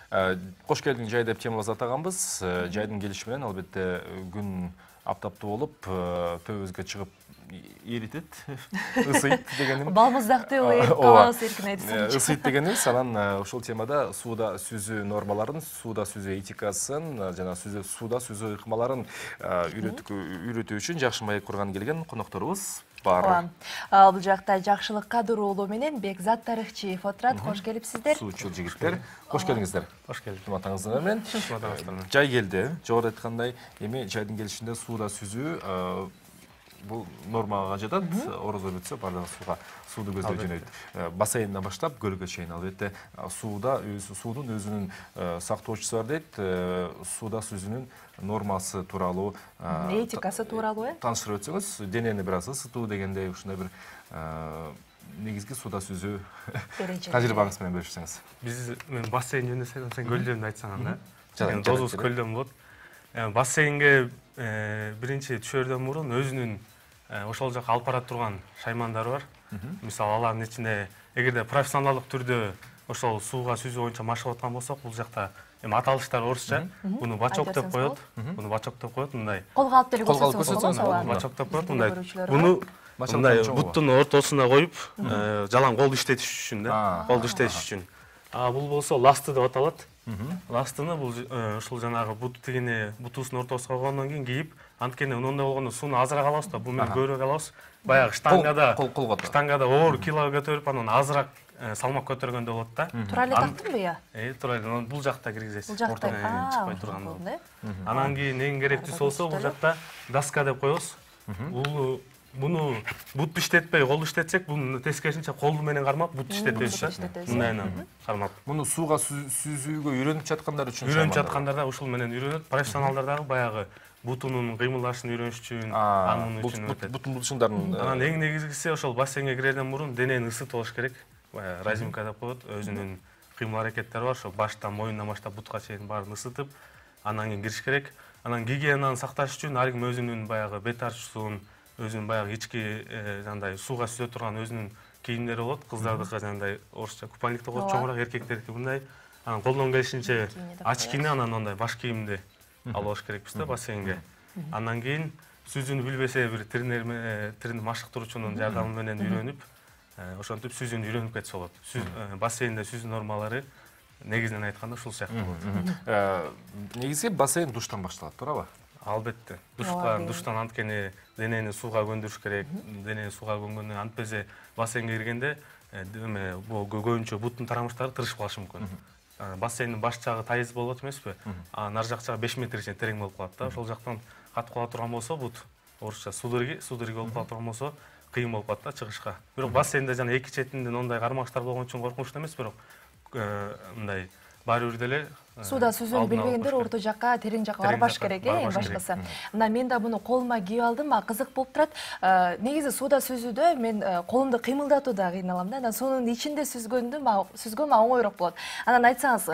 Кош келдиң жай деп темабызды атаганбыз. Жайдын келиши менен албетте күн аптаптуу болуп, төбүбүзгө чыгып эритет, ысыйт дегеним. Балмуздакты эрип калабыз эркин айтсаңчы. Ысыйт дегенибиз, анан ушул темада сууда сүзүү нормаларын, сууда сүзүү этикасын, жана сууда сүзүү ыкмаларын үйрөтүү үчүн жакшы маек курган келген конокторубуз бар. Бул жакта Жакшылыкка уулу менен Бекзат Тарыхчиев отурат. Кош келипсиздер. Суучул жигиттер. Кош келиңиздер. Кош келдик. Атаңыздар менен. Жай келди. Жогоруда айткандай, эми жайдын келишинде сууда сүзүү бул нормага жатат. Орозо бүтсө бардыгы сууду көздөй жөнөйт. Бассейнден баштап көлгө чейин албетте суудун өзүнүн сактоочусу бар дейт. Сууда сүзүүнүн нормасы тууралуу, этикасы тууралуу тааныштырып өтсөңүз, денени бир аз ысытуу дегендей ушундай бир негизги сууда сүзүү тажрыйбаңыз менен бөлүшсөңүз. Мен бассейн жөнүндө сен көл жөнүндө айтсаң анда. Дозус көлдөн болот. Бассейнге биринчи түшөрдөн мурун өзүнүн ошол жака алып бара турган шаймандары бар. Мисалы алардын ичинде эгерде профессионалдык түрдө ошол сууга сүзүү боюнча машык аткан болсок, бул жакта эми аталыштар орусча. Буну бачок деп коет. Мындай. Колго алып деле көрсөтсөңүз. Бачок деп коет мындай. Буну мындай буттун ортосуна коюп, жалаң колду иштетиш үчүн да. Колду иштетиш үчүн. Бул болсо ласты деп аталат. Ластыны бул ушул жанагы бут тигине бутусунун ортосуна койгондон кийин кийип, анткени ондай болгондо сууну азыраак алабыз да, бул менен көбүрөөк алабыз. Баягы штангада оор кило көтөрүп, анан азыраак салмак көтөргөндө болот да. Туура эле тактыңбы я? Туура эле. Бул жакта киргизесиз. Бул жакта чыкпай турган. Анан кийин эң керектүүсү болсо бул жакта доска деп коебуз. Буну бут иштетпей, кол иштетсек, бунун тескерисинче колду менен кармап, бут иштетебиз. Мындайынан кармап. Муну сууга сүзүүгө үйрөнүп жаткандар үчүн. Үйрөнүп жаткандар да ушул менен үйрөнөт. Профессионалдар дагы баягы бутунун кыймылдашын үйрөнүш үчүн, анын үчүн өтөт. Бутун булчуңдарын. Анан эң негизгиси ошол бассейнге кирерден мурун денени ысытып алыш керек. Разимка деп коет. Өзүнүн кыймыл аракеттери бар, ошо баштан, моюндан баштап бутка чейин баарын ысытып, анан кийин кириш керек. Анан гигиенаны сакташ үчүн ар ким өзүнүн баягы бет арчуусун, өзүнүн баягы ички жандай сууга сүзө турган өзүнүн кийимдери болот. Кыздардыкы жандай орусча купальник деп коет, чоңураак, эркектердики мындай. Анан колдон келишинче очкини, анан ондай баш кийимди алып алыш керекпиз да бассейнге. Андан кийин сүзүүнү билбесе бир тренер машыктыруучунун жардамы менен үйрөнүп, ошентип сүзүүнү үйрөнүп кетсе болот. Бассейнде сүзүү нормалары негизинен айтканда ушул сыяктуу. Негизи бассейн душтан башталат, туурабы? Албетте. Душтан анткени денени сууга көндүрүш керек. Денени сууга көңгөндөн антпесе бассейнге киргенде көбүнчө буттун тарамыштары тырышып калышы мүмкүн. Бассейндин баш жагы тайыз болот эмеспи? Нар жак жагы 5 метр чейин терең болуп калат да. Ошол жактан катып кала турган болсо, бут орусча судырги болуп кала турган болсо, кыйын болуп калат да чыгышка. Бирок бассейнде жана эки четинден ондай кармаштар болгон үчүн коркунучтуу эмес, бирок мындай баары бир деле сууда сүзүүнү билбегендер орто жакка, терең жакка барбаш керек, эң башкысы. Мына мен да буну колума кийип алдым, кызык болуп турат. Негизи сууда сүзүүдө мен колумду кыймылдатууда кыйналам да. Анан сонун ичинде сүзгөн оңойрок болот. Анан айтсаңыз,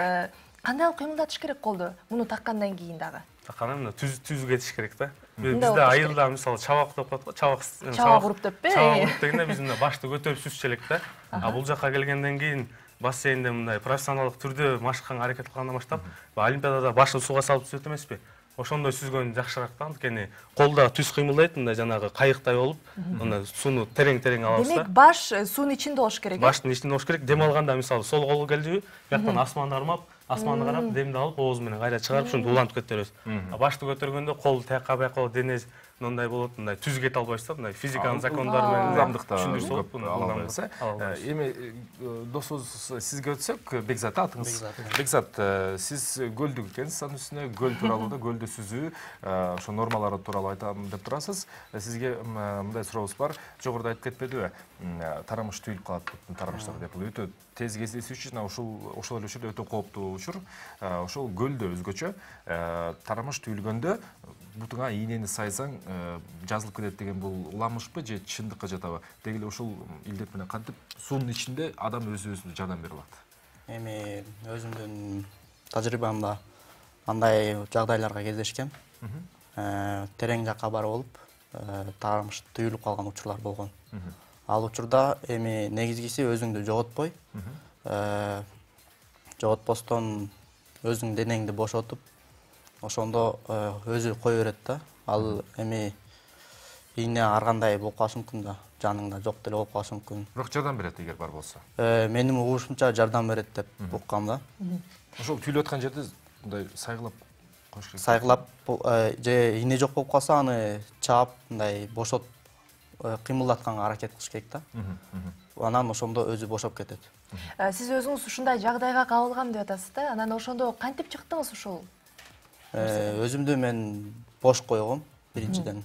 кандай кылып кыймылдатыш керек колду? Муну таккандан кийин дагы. Таккандан түз кетиш керек да. Бизде айылда мисалы чабак деп коет го, чабак уруп деппи? Чабак уруп дегенде биз мына башты көтөрүп сүзчү элек да. Бул жакка келгенден кийин бассейнде мындай профессионалдык түрдө машыкканга аракет кылгандан баштап, олимпиадада башын сууга салып сүзөт эмеспи? Ошондой сүзгөн жакшыраак да, анткени колдо түз кыймылдайт, мындай жанагы кайыктай болуп, мына сууну терең алабыз да. Демек, баш суунун ичинде болуш керек. Баштын ичинде болуш керек. Дем алганда мисалы сол колу келдиби, бияктан асманды кармап, асманды карап, демди алып, оозу менен кайра чыгарып, ушинтип улантып кетебиз. Башты көтөргөндө кол тияка бияка дене мындай болот, мындай түз кете албайсыз да, мындай физиканын закондору менен ылдамдыкта түшүндүрсө болот, ылдамдыкта. Эми досубуз сизге өтсөк, Бекзат атыңыз. Бекзат, сиз көлдү экенсиз, анын үстүнө көл тууралуу да, көлдө сүзүү, ошо нормалары тууралуу айтам деп турасыз. Сизге мындай сурообуз бар. Жогоруда айтып кетпедиби? Тарамыш түйүлүп калат, тарамыштар деп. Бул өтө тез кездешүү үчүн ошол эле учурда өтө кооптуу учур. Ошол көлдө өзгөчө тарамыш түйүлгөндө бутуңа ийнени сайсаң жазылып кетет деген бул уламышпы же чындыкка жатабы? Деги эле ушул илдет менен кантип суунун ичинде адам өзүнө жардам бере алат? Эми өзүмдүн тажрыйбамда андай жагдайларга кездешкем. Терең жакка барып алып, тарамыш түйүлүп калган учурлар болгон. Ал учурда эми негизгиси өзүңдү жоготпой, жоготпостон өзүң денеңди бошотуп, ошондо өзү кое берет да. Ал эми ийне ар кандай болуп калышы мүмкүн да, жаныңда жок деле болуп калышы мүмкүн. Бирок жардам берет эгер бар болсо. Менин угушумча жардам берет деп уккам да. Ошол түйүлүп аткан жерде мындай сайгылап коюш керек. Сайгылап же ийне жок болуп калса аны чаап мындай бошот кыймылдатканга аракет кылыш керек да. Анан ошондо өзү бошоп кетет. Сиз өзүңүз ушундай жагдайга кабылгам деп атасыз да. Анан ошондо кантип чыктыңыз ушул? Өзүмдү мен бош койгом биринчиден.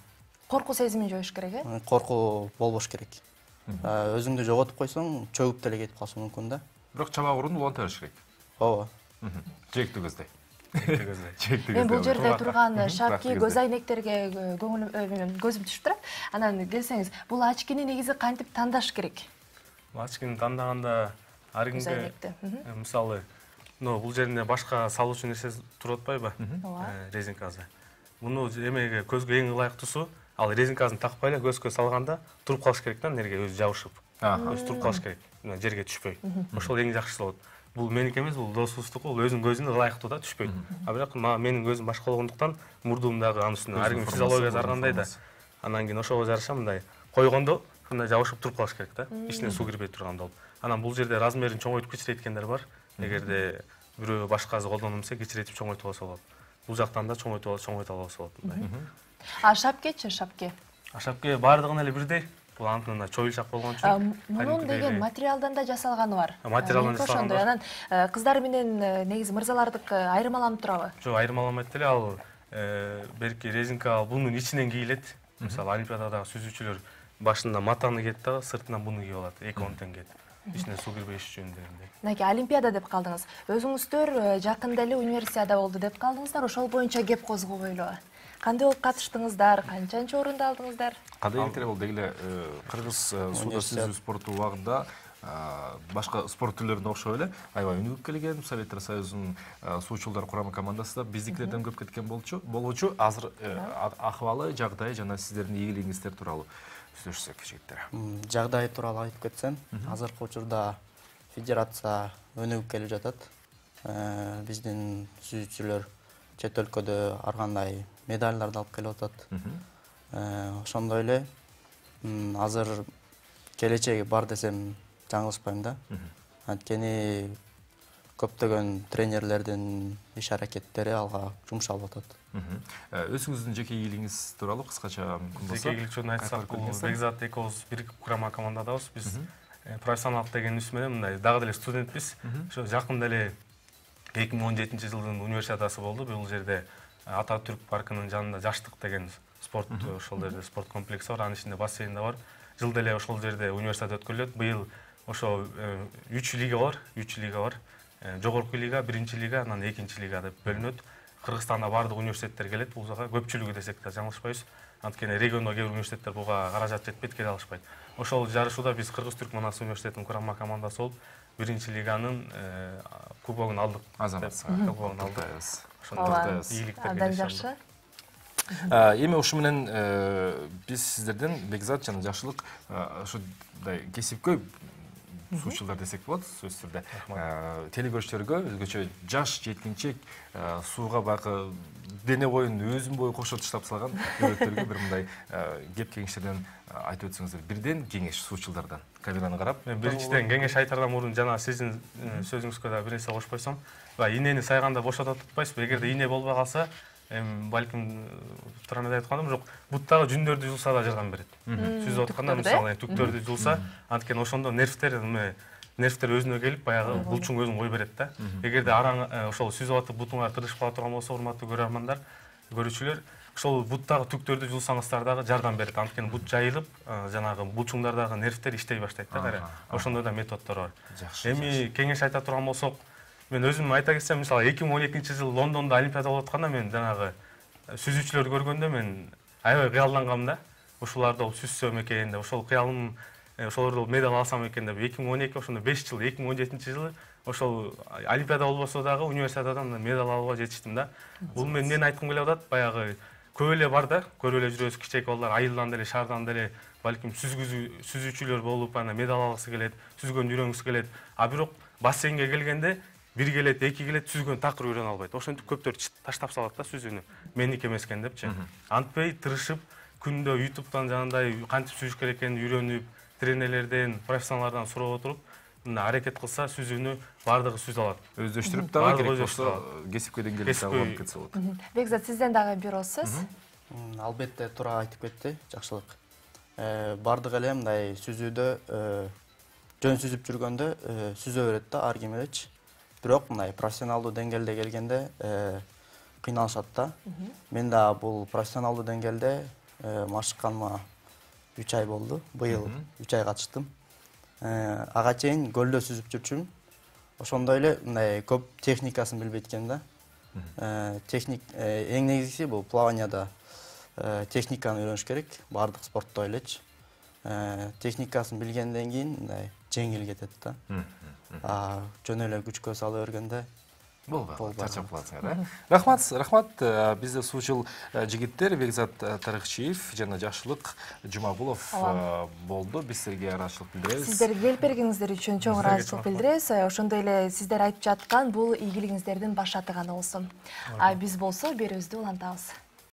Коркуу сезимин жоюш керек, Коркуу болбош керек. Өзүңдү жоготуп койсоң, чөгүп деле кетип калышы мүмкүн да. Бирок чабагырууну уланта бериш керек. Ооба. Жээктүү көздөй. Мен бул жерде турган шапки, көз айнектерге көзүм түшүп турат. Анан келсеңиз, бул очкини негизи кантип тандаш керек? Очкини тандаганда ар кимге мисалы, бул жеринде башка салуучу нерсе туруп атпайбы? Резинкасы. Муну эмеге көзгө эң ылайыктуусу, ал резинкасын такпай эле көзгө салганда туруп калыш керек да, нерге өзү жабышып. Өзү туруп калыш керек, жерге түшпөй. Ошол эң жакшысы болот. Бул меники эмес, бул досубуздуку, бул өзүнүн көзүнө ылайыктуу да, түшпөйт. А бирок менин көзүм башка болгондуктан мурдумдагы анын үстүнө ар кимдин физиологиясы ар кандай да. Анан кийин ошого жараша мындай койгондо мындай жабышып туруп калыш керек да, ичине суу кирбей тургандай болуп. Анан бул жерде размерин чоңойтуп кичирейткендер бар. Эгерде бирөө башкасы колдоном десе кичирейтип чоңойтуп алса болот. Бул жактан да чоңойто алса болот мындай. А шапкечи, шапке? Шапке баардыгын эле бирдей. Бул антына чоюлчак болгон үчүн. Мунун деген материалдан да жасалганы бар. Материалдан жасалганы бар. Анан кыздар менен негизи мырзалардыкы айырмаланып турабы? Жок, айырмаламайт деле. Ал берки резинка бунун ичинен кийилет. Мисалы, олимпиададагы сүзүүчүлөр башында матаны кийет да, сыртынан буну кийип алат. 2-10 теңге. Ичине суу кирбеш үчүн дегендей. Мынакей олимпиада деп калдыңыз. Өзүңүздөр жакында эле универсиада болду деп калдыңыздар. Ошол боюнча кеп козгобойлу. Кандай болуп катыштыңыздар? Канчанчы орунду алдыңыздар? Кандай эле болду эле кыргыз сууда сүзүү спорту убагында башка спорт түрлөрүнө окшоп эле аябай өнүгүп келген. Советтер Союзунун суучулдар курама командасы да биздикилерден көп кеткен болчу. Азыр акыбалы, жагдай жана сиздердин ийгилигиңиздер тууралуу сүйлөшсөк, жигиттер. Жагдай тууралуу айтып кетсем, азыркы учурда федерация өнүгүп келип жатат. Биздин сүзүүчүлөр чет өлкөдө ар кандай медалдарды алып келип атат. Ошондой эле азыр келечеги бар десем жаңылышпайм да. Анткени көптөгөн тренерлердин иш аракеттери алга жумшалып атат. Өзүңүздүн жеке ийгилигиңиз тууралуу кыскача мүмкүн болсо. Жеке ийгилик жөнүндө айтсак, бул Бекзат экөөбүз бир курама командадабыз. Биз профессионалдык деген үс менен мындай дагы деле студентпиз. Ошо жакында эле 2017-жылдын универсиадасы болду. Бул жерде Ататүрк паркынын жанында Жаштык деген спорт, ошол жерде спорт комплекси бар, анын ичинде бассейн да бар. Жылда эле ошол жерде универсиада өткөрүлөт. Быйыл ошо 3 лига бар. Жогорку лига, 1-лига, анан 2-лига деп бөлүнөт. Кыргызстанда баардык университеттер келет бул жака. Көпчүлүгү десек да жаңылышпайбыз. Анткени региондо кээ бир университеттер буга каражат жетпейт, келе алышпайт. Ошол жарышууда биз Кыргыз-Түрк Манас университетинин курама командасы болуп, 1-лиганын кубогун алдык. Кубогун алдык. Абдан жакшы. Эми ушу менен биз сиздерден Бекзат жана Жакшылык ушундай кесипкөй суучулдар десек болот, сөзсүз түрдө теле көрүүчүлөргө өзгөчө жаш жеткинчек сууга баягы дене боюн өзүн бою кошо таштап салган өрөктөргө бир мындай кеп кеңештерден айтып өтсөңүздөр. Бирден кеңеш суучулдардан камераны карап. Мен биринчиден кеңеш айтардан мурун жана сиздин сөзүңүзгө да бир нерсе кошуп койсом, инени сайганда бошотуп атпайсызбы? Эгерде ине болбой калса, балким турамда айтканым жок, буттагы жүндөрдү жулса да жардам берет. Сүзүп атканда мисалы түктөрдү жулса, анткени ошондо нервтер өзүнө келип баягы булчуң өзүн кой берет да. Эгерде араң ошол сүзүп атып бутуңар тырышып кала турган болсо, урматтуу көрөрмандар, көрүүчүлөр, ошол буттагы түктөрдү жулсаңыздар дагы жардам берет. Анткени бут жайылып, жанагы булчуңдардагы нервтер иштей баштайт да кайра. Ошондой да методдор бар. Эми кеңеш айта турган болсок, мен өзүм айта кетсем, мисалы 2012-жылы Лондондо олимпиада болуп атканда мен жанагы сүзүүчүлөрдү көргөндө мен аябай кыялдангам да. Ушуларды сүзсөм экен деп, ошол кыялым ошолорду медаль алсам экен деп. 2012 ошондо 5 жыл, 2017-жылы ошол олимпиада болбосо дагы универсиададан медаль алууга жетиштим да. Бул мен эмнени айткым келип атат? Баягы көп эле бар да, көрүп эле жүрөбүз, кичээк балдар айылдан деле, шаардан деле балким сүзүүчүлөр болуп, ана медаль алгысы келет, сүзгөндү үйрөнгүсү келет. А бирок бассейнге келгенде бир келет, эки келет сүзгөнү такыр үйрөнө албайт. Ошентип көптөр таштап салат да сүзүүнү. Меники эмес экен депчи. Антпей тырышып күндө YouTube'дан жанагындай кантип сүзүш керек экенин үйрөнүп, тренерлерден, профессионалдардан сурап отуруп, мына аракет кылса сүзүүнү бардыгы сүзө алат. Өздөштүрүп дагы керек болсо кесипке деңгээлде алып кетсе болот. Бекзат, сизден дагы бир ооз сөз. Албетте туура айтып кетти, жакшылык. Бардык эле мындай сүзүүдө жөн сүзүп жүргөндө сүзө берет да ар ким элечи. Бирок мындай профессионалдуу деңгээлде келгенде кыйналышат да. Мен да бул профессионалдуу деңгээлде машыкканыма 3 ай болду. Быйыл 3 ай катыштым. Ага чейин көлдө сүзүп жүрчүмүн. Ошондой эле мындай көп техникасын билбейт экен да. Эң негизгиси бул плаванияда техниканы үйрөнүш керек, бардык спортто элечи. Техникасын билгенден кийин мындай жеңил кетет да. Жөн эле күчкө сала бергенде болбойт, чарчап каласыңар. Рахмат, бизде суучул жигиттер Бекзат Тарыхчиев жана Жакшылык Жумагулов болду. Биз силерге ыраазычылык билдиребиз. Сиздер келип бергениңиздер үчүн чоң ыраазычылык билдиребиз. Ошондой эле сиздер айтып жаткан бул ийгилигиңиздердин баш аты гана болсун. Биз болсо берүүбүздү улантабыз.